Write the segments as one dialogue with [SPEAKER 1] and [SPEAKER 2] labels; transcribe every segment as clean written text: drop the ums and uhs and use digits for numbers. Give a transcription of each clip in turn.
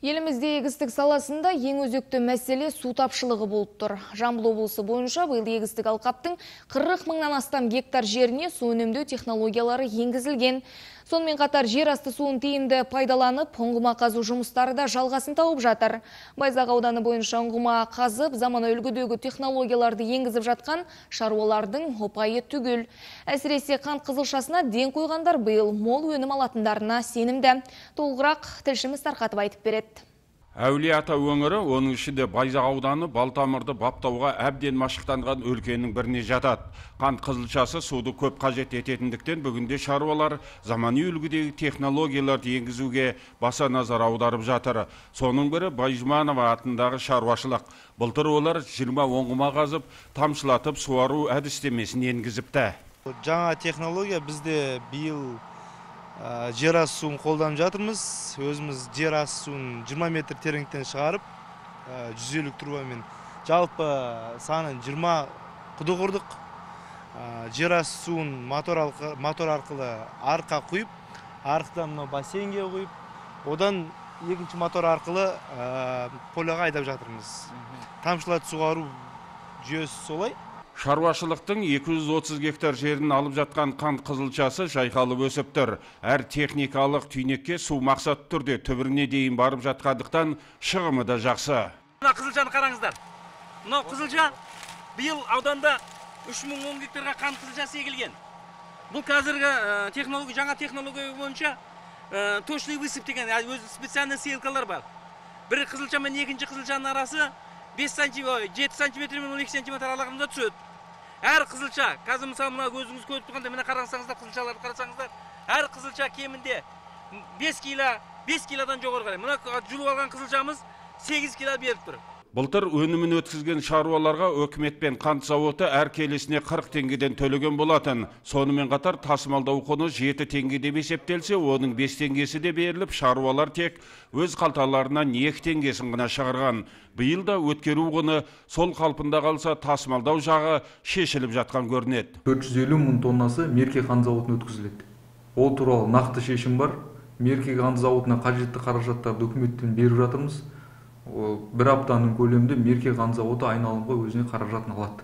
[SPEAKER 1] Елімізде егістік саласында ең өзекті мәселе су тапшылығы болып тұр. Жамбыл облысы бойынша биыл егістік алқаптың 40 мыңнан астам гектар жеріне су үнемдеу технологиялары енгізілген. Сонымен қатар жер асты суын тиімді пайдаланып, ұңғыма қазу жұмыстары да жалғасын тауып жатыр. Байзақ ауданы бойынша ұңғыма қазып, замана үлгідегі технологияларды енгізіп жатқан шаруалардың ұпайы түгел. Әсіресе қант қызылшасына ден қойғандар биыл мол өнім алатындарына сенімді. Толығырақ тілшіміз тарқатып айтып береді.
[SPEAKER 2] Әулие-ата өңірі, оның ішінде Байзақ ауданы Балтамырды баптауға әбден машықтанған өлкенің біріне жатады. Қант қызылшасы суды көп қажет ететіндіктен бүгінде шаруалар замани үлгідегі технологияларды енгізуге баса назар аударып жатыр. Соның бірі Байжұманова атындағы шаруашылық. Былтыр олар 20 оңғыма қазып, тамшылатып суару әдістемесін енгізіпті.
[SPEAKER 3] Жаңа технология бізде биыл жер асты суын қолданып жатырмыз. Өзіміз жер асты суын 20 метр тереңдіктен шығарып, 150 трубамен жалпы санын 20 құдық ұрдық. Жер асты суын мотор арқылы арқа құйып, арқыдан бассейнге құйып, одан екінші мотор арқылы поляға айдап жатырмыз. Тамшылатып суғару жүйесі солай.
[SPEAKER 2] Шаруашылықтың 230 гектар жерін алып жатқан қант қызылшасы жайқалып өсіп тұр. Әр техникалық түйнекке су мақсат түрде түбіріне дейін барып жатқандықтан шығымы да жақсы.
[SPEAKER 4] Мына қызылшаны қараңыздар. Мынау қызылша биыл ауданда 3010 гектарға қант қызылшасы егілген. Бұл қазіргі жаңа технология бойынша точный высып деген специальный сеялкалар бар. Бір қызылша мен екінші қызылшаның арасы 7 сантиметр мен 12 сантиметр аралығында түседі. Әр қызылша, қазір мысалы мына көзіңіз көріп тұрғанда, міне қараңыздар, қызылшаларды қарасаңыздар, әр қызылша кемінде 5 килодан жоғары қарай. Мына жұлып алған қызылшамыз 8 кило беріп тұр.
[SPEAKER 2] Былтыр өнімін өткізген шаруаларға өкімет пен қант зауыты әр келісіне 40 теңгеден төлеген болатын. Сонымен қатар тасымалдау құны 7 теңге деп есептелсе, оның 5 теңгесі де беріліп, шаруалар тек өз қалталарынан 2 теңгесін ғана шығарған. Биыл да өткеру құны сол қалпында қалса, тасымалдау жағы шешіліп жатқан көрінеді.
[SPEAKER 5] 450 мың тоннасы Мерке қант зауытына өткізіледі. Ол туралы нақты шешім бар. Мерке қант зауытына қажетті қаражаттарды үкіметтен беріп жатырмыз. Бір аптаның көлемінде Мерке қант зауыты айналымға өзіне қаражатын алады.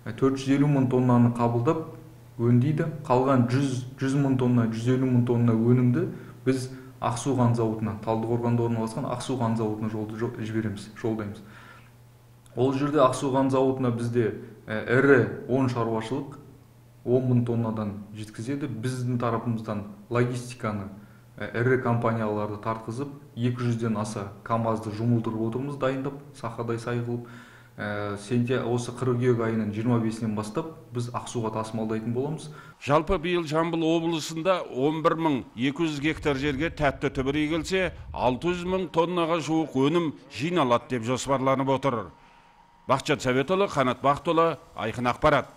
[SPEAKER 5] 450 мың тоннаны қабылдап өңдейді. Қалған 100 мың тонна, 150 мың тонна өнімді біз Ақсу қант зауытына, Талдықорғанда орналасқан Ақсу қант зауытына жолдаймыз. Ол жерде Ақсу қант зауытына бізде ірі 10 шаруашылық 10 мың тоннадан жеткізеді. Біздің тарапымыздан логистиканы ірі компанияларды тартқызып, 200-ден аса КАМАЗды жұмылдырып отырмыз, дайындап, сақадай сай қылып. Осы қыркүйек айының 25-нен бастап біз Ақсуға тасымалдайтын боламыз.
[SPEAKER 2] Жалпы биыл Жамбыл облысында 11.200 гектар жерге тәтті түбір егілсе, 600 мың тоннаға жуық өнім жиналады деп жоспарланып отыр. Бақытжан Сәбетұлы, Қанат Бақтұлы, Айқын ақпарат.